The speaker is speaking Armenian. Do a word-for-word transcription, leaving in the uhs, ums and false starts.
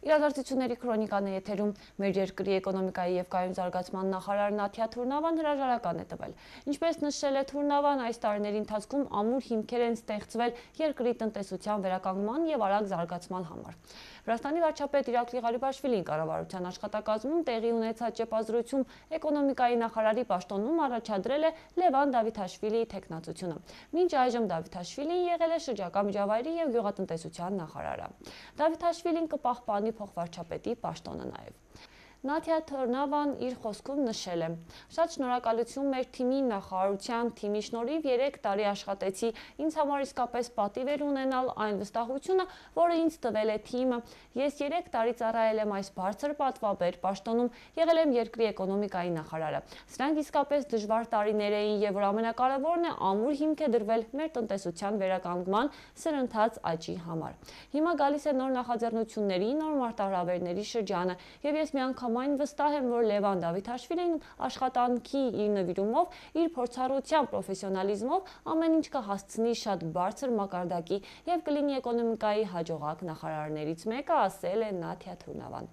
Իրադարձությունների քրոնիկան է եթերում մեր երկրի էկոնոմիկայի և կայուն զարգացման նախարար Նաթիա Թուրնավան հրաժարական է տվել։ Ինչպես նշել է Թուրնավան, այս տարիների ընթացքում ամուր հիմքեր են ստեղծվել երկրի տնտեսության վերականգնման և արագ զարգացման համար։ Վրաստանի վարչապետ Իրակլի Ղարիբաշվիլին կառավարության աշխատակազմում տեղի ունեցած ճեպազրույցում էկոնոմիկայի նախարարի պաշտոնում առաջադրել է Լևան Դավիթաշվիլիի թեկնածությունը։ Մինչ այժմ Դավիթաշվիլին եղել է շրջակա միջավայրի և գյուղատնտեսության նախարարը։ Դավիթաշվիլին կպահպանի փոխվարչապետի պաշտոնը նաև։ Նաթիա Թուրնավան իր խոսքում նշել է. «Շատ շնորհակալություն մեր թիմի, նախարարության թիմի շնորհիվ երեք տարի աշխատեցի, ինձ համար իսկապես պատիվ էր ունենալ այն վստահությունը, որը ինձ տվել է թիմը։ Ես երեք տարի ծառայել եմ այս բարձր պատվաբեր պաշտոնում, եղել եմ երկրի էկոնոմիկայի նախարարը։ Սրանք իսկապես դժվար տարիներ էին, և որ ամենակարևորն է, ամուր հիմք է դրվել մեր տնտեսության վերականգնման, սրընթաց աճի համար։ Հիմա գալիս է նոր նախաձեռնությունների, նոր մարտահրավերների շրջանը, և ես միանգամայն վստահ եմ, որ Լևան Դավիթաշվիլին աշխատանքի իր նվիրումով, իր փորձառությամբ, պրոֆեսիոնալիզմով ամեն ինչ կհասցնի շատ բարձր մակարդակի և կլինի էկոնոմիկայի հաջողակ նախարարներից մեկը», ասել է Նաթիա Թուրնավան։